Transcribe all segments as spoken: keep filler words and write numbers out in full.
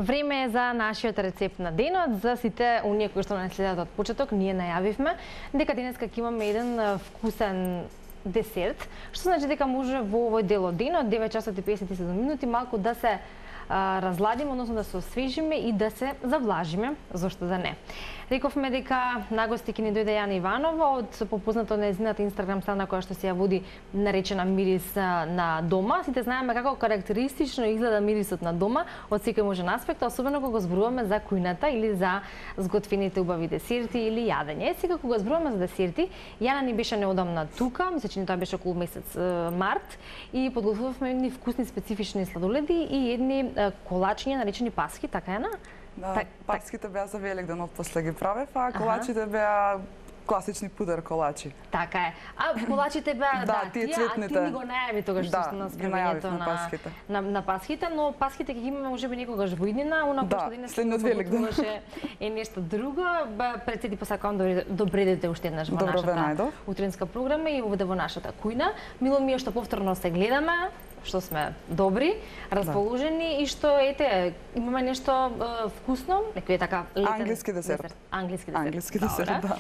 Време е за нашиот рецепт на денот. За сите оние кои што не следат од почеток, ние најавивме дека денеска ќе имаме еден вкусен десерт, што значи дека може во овој дел од денот, девет часот и песет и седум минути, малку да се а, разладиме, односно да се освежиме и да се завлажиме, зошто да не. Рековме дека на гости ќе ни дојде Јана Иванова од попозната нејзината инстаграм страна која што се ја води наречена Мирис на дома. Сите знаеме како карактеристично изгледа мирисот на дома од секој можен аспект, особено кога зборуваме за кујната или за зготвените убави десерти или јадење. Сега кога зборуваме за десерти, Јана ни беше неодамна тука, мисля че тоа беше околу месец март, и подготвувавме едни вкусни специфични сладоледи и едни колачиња наречени пасхи, така Јана? Да, так, пасхите беа за Великден, после ги правев, а колачите беа класични пудер колачи. Така е. А колачите беа да, да, тие тие, цветните. а ти ни го најави тогаш да, што на справењето на пасхите. На, на пасхите, но пасхите ќе ги имаме можеби некогаш во иднина, она да, што денес следниот Великден е нешто друго. Председи посакувам да добредете уште еднаш во Добро нашата утринска програма и овде во нашата кујна. Мило ми е што повторно се гледаме, што сме добри, расположени да. И што ете имаме нешто е, вкусно, некој е така летен англиски десерт. десерт. Англиски десерт. Англиски десерт, да.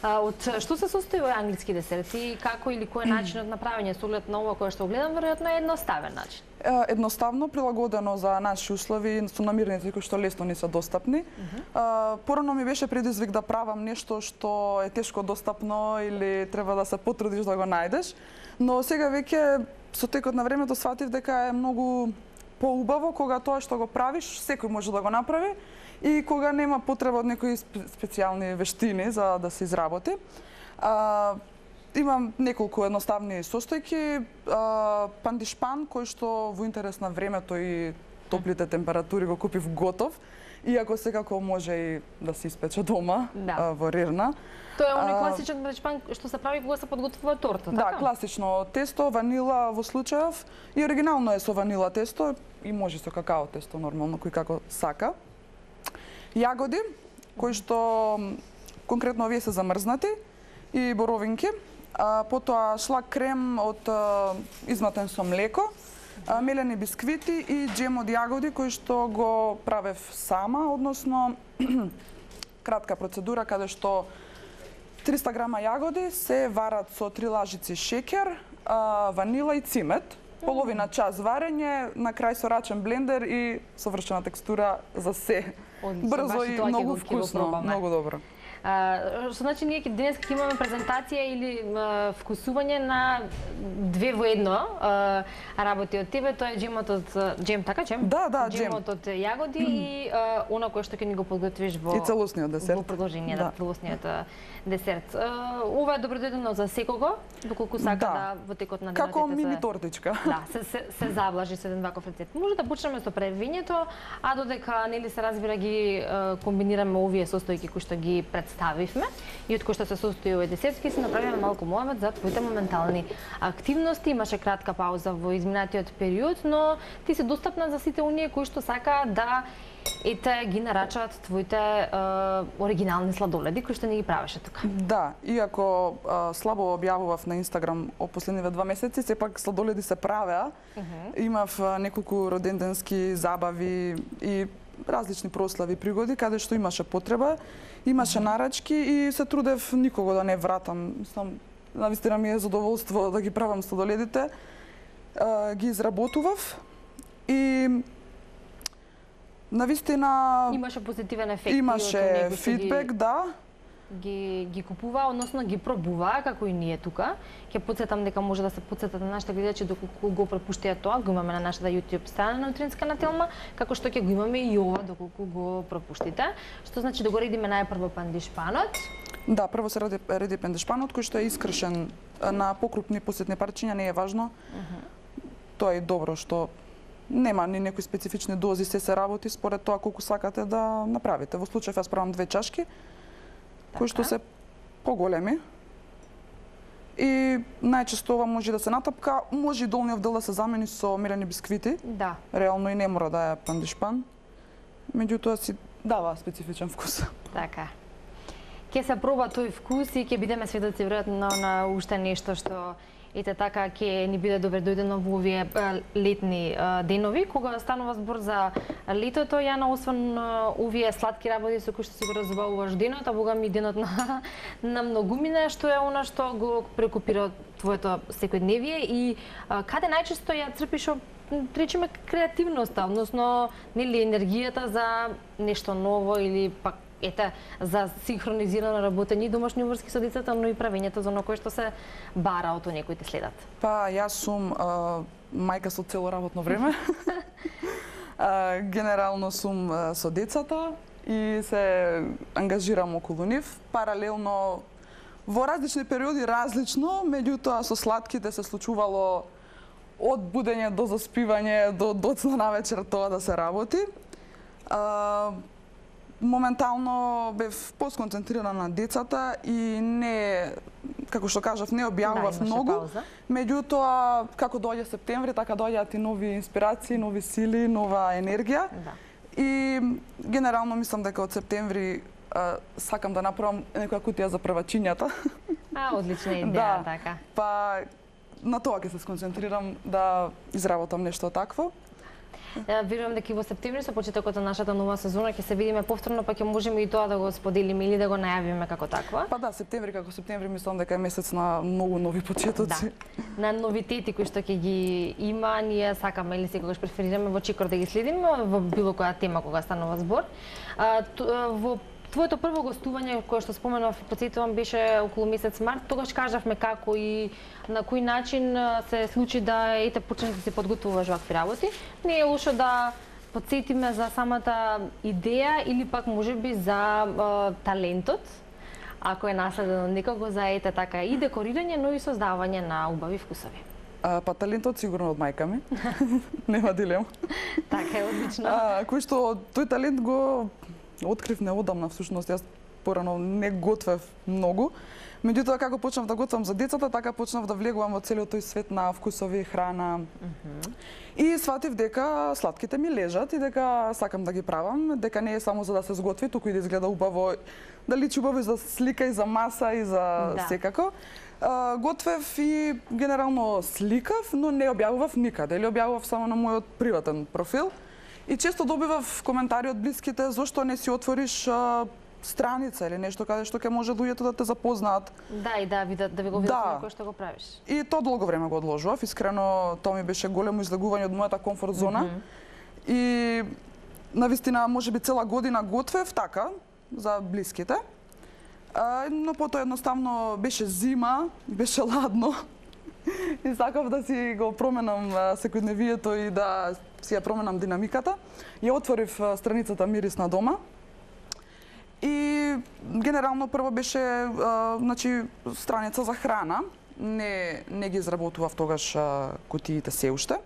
А, од што се состои овој англиски десерт и како или кој е начинот на правење со оглед на ова кое што гледам, веројатно е едноставен начин. Едноставно, прилагодено за наши услови, со намирници кои што лесно ни се достапни. Uh -huh. Порано ми беше предизвик да правам нешто што е тешко достапно или треба да се потрудиш да го најдеш, но сега веќе со текот на времето сватив дека е многу поубаво кога тоа што го правиш, секој може да го направи и кога нема потреба од некои специјални вештини за да се изработи. А, имам неколку едноставни состојки, а, пандишпан кој што во интерес на времето и топлите температури го купив готов, иако секако може и да се испече дома, да. а, во рерна. Тоа е оној класичен пандишпан што се прави кога се подготвува торта, така? Да, класично тесто, ванила во случајов и оригинално е со ванила тесто и може со какао тесто нормално, кој како сака. Јагоди, кои што конкретно овие се замрзнати и боровинки, а, потоа шлак крем од а, изматен со млеко, а, мелени бисквити и джем од јагоди кој што го правев сама, односно кратка процедура каде што триста грама јагоди се варат со три лажици шеќер, а, ванила и цимет. Половина час варење, на крај со рачен блендер и совршена текстура за се. Одлично, брзо и многу вкусно, многу добро. Uh, што значи ние денес ќе имаме презентација или uh, вкусување на две во едно uh, работи од тебе, тоа е джемот од джем, така джем? Да, да, джем. Джемот од јагоди mm. и uh, она кое што ќе ни го подготвиш во и целосниот десерт. Во продолжение да. на целосниот десерт. Uh, ова е добродојдено за секого, доколку сака да, да во текот на денот како мини тортичка. Да, се се, се завлажи со еден ваков рецепт. Може да почнеме со превињето, а додека нели се разбира ги uh, комбинираме овие состојки кои што ги представивме и од кои што се состои овој десерт, ќе си направиме малку мојавет за твоите моментални активности. Имаше кратка пауза во изминатиот период, но ти се достапна за сите оние кои што сака да ете ги нарачаат твоите е, оригинални сладоледи кои што ни ги правеше тука. Да, иако е, слабо објавував на Инстаграм о последниве два месеци, сепак сладоледи се правеа. Uh -huh. Имав е, неколку роденденски забави и различни прослави, пригоди, каде што имаше потреба, имаше нарачки и се трудев никого да не вратам. Мислам, навистина ми е задоволство да ги правам сладоледите. Е, ги изработував и навистина имаше позитивен ефект. Имаше фидбек, ги, да. Ги ги купува, односно ги пробува, како и ние тука. Ќе потсетам дека може да се потсетат на нашите гледачи доколку го пропуштија тоа, го имаме на нашата YouTube страна на Утринска на Телма, како што ќе го имаме и ова доколку го пропуштите. Што значи да го редиме најпрво пандишпанот? Да, прво се реди, реди пандишпанот кој што е искршен на покрупни посетни парчиња, не е важно. Uh -huh. Тоа е добро што нема ни некои специфични дози, се се работи според тоа колку сакате да направите. Во случај јас правам две чашки, така, кои што се поголеми. И најчесто ова може да се натапка, може и долниот дел да се замени со мелени бисквити. Да. Реално и не мора да е пандишпан. Меѓутоа си дава специфичен вкус. Така. Ќе се проба тој вкус и ќе бидеме сведоци веројатно на уште нешто што ете така ќе ни биде добре дојдено во овие летни денови, кога станува збор за летото, Јана, освен овие сладки работи со кои што си го разбавуваш денот, а богами денот на на многумина, што е она што го прекупира твоето секојдневие и каде најчесто ја црпиш, речеме, креативноста, односно нели енергијата за нешто ново или пак ете за синхронизирано работење и домашни врски со децата, но и правењето за оно кое што се бара од оние кои те следат. Па јас сум а, мајка со цело работно време. а, генерално сум а, со децата и се ангажирам околу нив. Паралелно во различни периоди различно, меѓутоа со сладките се случувало од будење до заспивање до доцна навечер тоа да се работи. А, моментално бев посконцентрирана на децата и не, како што кажав, не објавував да, многу. Пауза. Меѓутоа, како доаѓа септември, така доаѓаат и нови инспирации, нови сили, нова енергија. Да. И генерално мислам дека од септември а, сакам да направам некоја кутија за првачињата. А, одлична идеја, да, така. Па на тоа ќе се сконцентрирам да изработам нешто такво. Верувам дека и во септември со почетокот на нашата нова сезона ќе се видиме повторно, па ќе можеме и тоа да го споделиме или да го најавиме како таква. Па да, септември како септември мислам дека е месец на многу нови почетоци. Да. На новитети кои што ќе ги има, ние сакаме или секогаш преферираме во чекор да ги следиме во било која тема кога станува збор. А, во твоето прво гостување, кое што споменав, потсетувам, беше околу месец март. Тогаш кажавме како и на кој начин се случи да ете почнеш да се подготвуваш вакви работи. Не е лошо да потсетиме за самата идеја или пак можеби за е, талентот, ако е наследено некако за ете така и декорирање, но и создавање на убави вкусови. А, па талентот сигурно од мајка ми. Нема дилема. Така е, одлично. А, кој што тој талент го открив неодамна, всушност јас порано не готвев многу. Меѓутоа како почнав да готвам за децата, така почнав да влегувам во целиот тој свет на вкусови, храна. Mm-hmm. И сватив дека сладките ми лежат и дека сакам да ги правам, дека не е само за да се сготви, туку и да изгледа убаво, да личи убаво и за слика и за маса и за да. Секако. Uh, готвев и генерално сликав, но не објавував никаде, или објавував само на мојот приватен профил. И често добивав коментари од блиските зошто не си отвориш а, страница или нешто каде што ќе може луѓето да те запознаат. Да, и да видат, да ви го видат да. кој што го правиш. И тоа долго време го одложував. Искрено, тоа ми беше големо излегување од мојата комфорт зона. Mm-hmm. И навистина можеби цела година готвев така за блиските. А, но потоа едноставно беше зима, беше ладно. И сакав да си го променам секојдневието и да си ја променам динамиката. Ја отворив страницата Мирис на дома. И генерално прво беше а, значи страница за храна. Не не ги изработував тогаш а, кутиите се уште.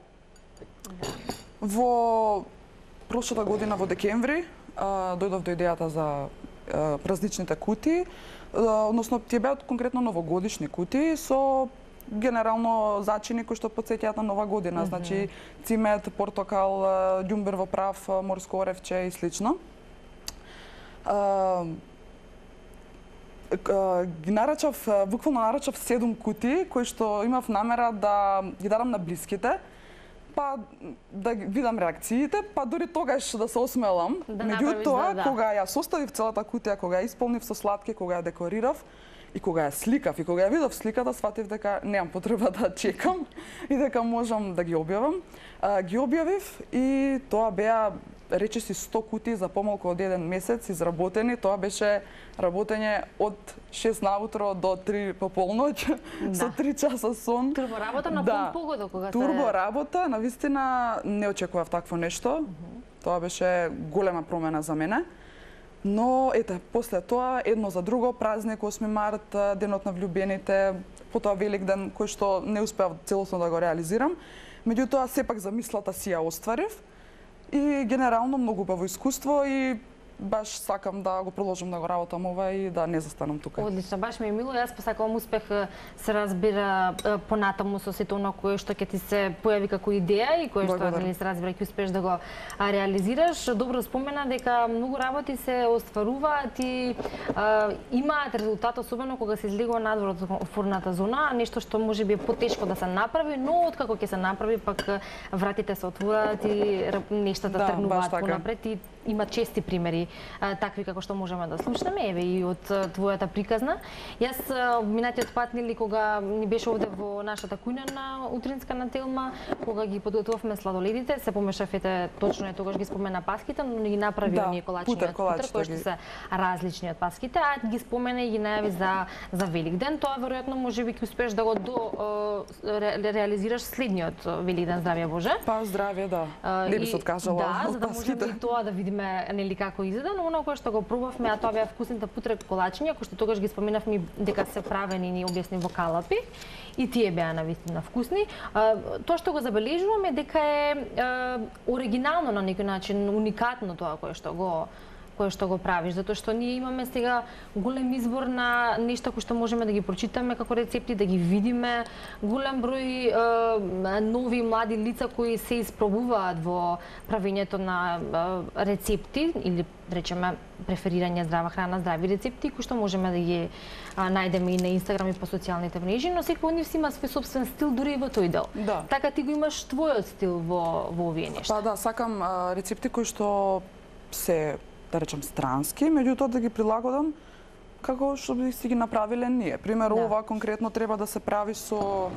Во прошлата година во декември а, дојдов до идејата за а, празничните кутии, а, односно тие беа конкретно новогодишни кутии со генерално зачини кои што потсеќаат на нова година, mm-hmm. значи цимет, портокал, ѓумбер во прав, морско оревче и слично. А, ги нарачав, буквално нарачав седум кутии кои што имав намера да ги дадам на блиските, па да видам реакциите, па дури тогаш да се осмелам. Да Меѓутоа, да, да. кога ја составив целата кутија, кога ја исполнив со сладки, кога ја декорирав, и кога ја сликав и кога ја видов сликата, сватив дека немам потреба да чекам и дека можам да ги објавам. А, ги објавив и тоа беа речиси сто кутии за помалку од еден месец изработени. Тоа беше работење од шест наутро до три пополноќ, да. Со три часа сон. Турбо работа на да. пол погода кога се... Турбо работа, навистина не очекував такво нешто. Uh-huh. Тоа беше голема промена за мене. Но, ете, после тоа, едно за друго, празник осми март, денот на влюбените, потоа Великден, кој што не успеав целосно да го реализирам. Меѓутоа, сепак замислата си ја остварив и генерално многу убаво искуство и баш сакам да го продолжам да го работам ова и да не застанам тука. Одлично, баш ми е мило. Јас посакувам успех, се разбира понатаму со сето оно кое што ќе ти се појави како идеја и кое што нели се разбира ќе успееш да го реализираш. Добро спомена дека многу работи се остваруваат и а, имаат резултат, особено кога се излегува надвор од комфортната зона, нешто што можеби е потешко да се направи, но откако ќе се направи пак вратите се отвораат и нештата да, тргнуваат понапред и има чести примери а, такви како што можеме да слушнеме, еве и од твојата приказна. Јас минатиот пат нели кога ни беше овде во нашата кујна на утринска на Телма, кога ги подготвувавме сладоледите, се помешавте точно е тогаш ги спомена паските, но не ги направи да, оние колачи од путер, кои што се различни од паските, а ги спомена и ги најави за за Великден. Тоа веројатно можеби ќе успееш да го до ре, реализираш следниот Великден, здравје Боже. Па здравје, да. Не би се откажала да, од за да можеме и тоа да видиме нели како изгледа, но оно кое што го пробавме, а тоа беа вкусните путрек колачиња, кои што тогаш ги споменавме дека се правени, ни објасни во калапи, и тие беа навистина вкусни. А, тоа што го забележуваме дека е а, оригинално на некој начин, уникатно тоа кое што го кое што го правиш, затоа што ние имаме сега голем избор на нешта кои што можеме да ги прочитаме како рецепти, да ги видиме, голем број е, нови млади лица кои се испробуваат во правењето на е, рецепти или речеме преферирање здрава храна, здрави рецепти кои што можеме да ги а, најдеме и на Инстаграм и по социјалните мрежи, но секој од нив си има свој собствен стил дури и во тој дел. Да. Така ти го имаш твојот стил во во овие нешта. Па да, сакам а, рецепти кои што се да речем странски, меѓутоа да ги прилагодам како што би си ги направиле ние. Пример, да. ова конкретно треба да се прави со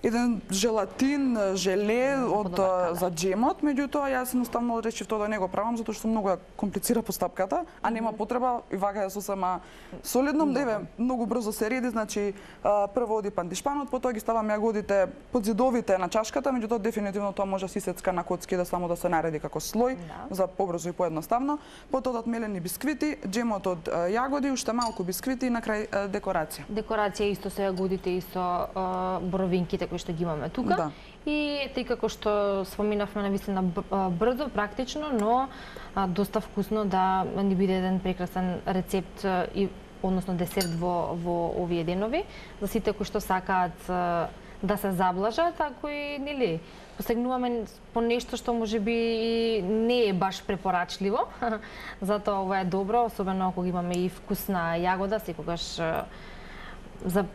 еден желатин, желе од така, да. за джемот, меѓутоа јас едноставно решив тоа да не го правам затоа што многу ја комплицира постапката, а нема потреба и вака ја сосема солидно, еве многу брзо се реди, значи прво оди пандишпанот, потоа ги ставам јагодите под зидовите на чашката, меѓутоа дефинитивно тоа може се исецка на коцки да само да се нареди како слој да. за побрзо и поедноставно. Потоа од мелени бисквити, джемот од јагоди, уште малку бисквити и на крај декорација. Декорација исто со јагодите и со боровинките кои што ги имаме тука. Да. И тъй како што споминавме навистина брзо, практично, но а, доста вкусно да ни биде еден прекрасен рецепт и односно десерт во во овие денови за сите кои што сакаат а, да се заблажат, а кои нели посегнуваме по нешто што можеби не е баш препорачливо. Затоа ова е добро, особено ако имаме и вкусна јагода, секогаш а, за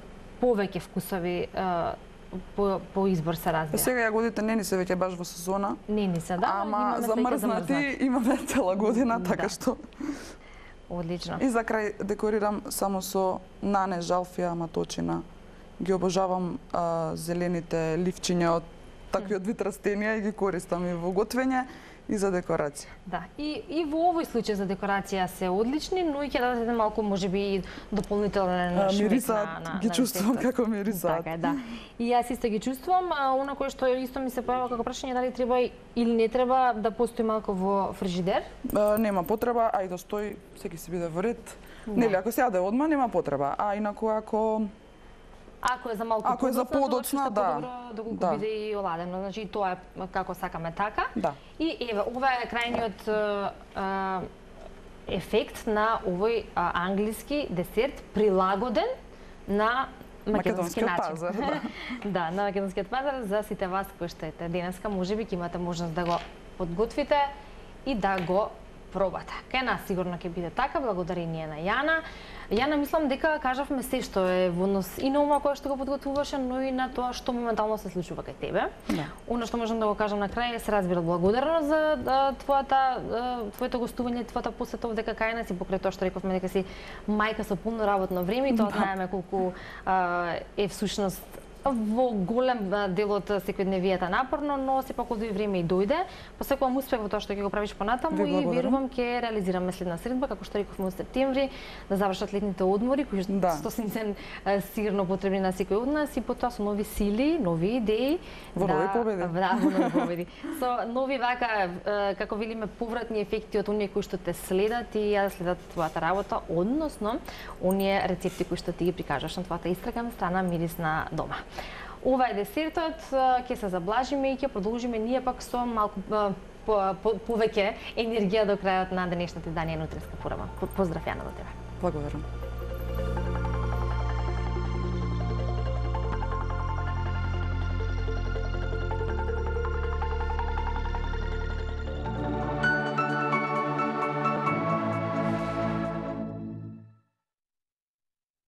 повеќе вкусови а, По, по избор се разбира. Сега јагодите не ни се веќе баш во сезона. Не ни се, да. Ама замрзнати имаме цела година, така да. што... Одлично. И за крај декорирам само со нане, жалфија, маточина. Ги обожавам а, зелените ливчиња од таквиот вид растенија и ги користам и во готвење и за декорација. Да, и, и во овој случај за декорација се одлични, но и ќе дадете малку можеби дополнителен шмек мирисаат, на, на ги чувствувам како мирисаат. Така е, да. И јас исто ги чувствувам, а она кое што исто ми се појава како прашање дали треба или не треба да постои малку во фрижидер? А, нема потреба, а и да стои, секи си биде во ред. Да. Нели, ако се јаде одма нема потреба, а инаку ако Ако е за малку Ако е за подоцна, да. Да го да. биде и оладено. Значи тоа е како сакаме така. Да. И еве, ова е крајниот а, ефект на овој а, англиски десерт прилагоден на македонски начин. Пазар, да. Да, на македонскиот пазар за сите вас кои што ете денеска можеби ќе имате можност да го подготвите и да го пробате. Кај нас сигурно ќе биде така, благодарение на Јана. Јана, мислам дека кажавме се што е во однос и на ова кое што го подготвуваше, но и на тоа што моментално се случува кај тебе. Да. Оно што можам да го кажам на крај е се разбира благодарност за да, твојата твоето гостување, твојата посета овде кај нас и покрај тоа што рековме дека си мајка со полно работно време и тоа да. знаеме колку а, е всушност во голем дел од секојдневијата напорно, но сепак од време и дојде. Посекувам успех во тоа што ќе го правиш понатаму и верувам ќе реализираме следна средба, како што рековме во септември, да завршат летните одмори, кои да. стотин цен сигурно потребни на секој од нас и потоа со нови сили, нови идеи, во нови да, победи. Да, во нови победи. Со нови вака како велиме повратни ефекти од оние кои што те следат и ја да следат твојата работа, односно оние рецепти кои што ти ги прикажаш на твојата Инстаграм страна Мирисна дома. Ова е десертот, ќе се заблажиме и ќе продолжиме ние пак со малку по, по, повеќе енергија до крајот на денешното издание Нутриска форама. Поздрав Јана до тебе. Благодарам.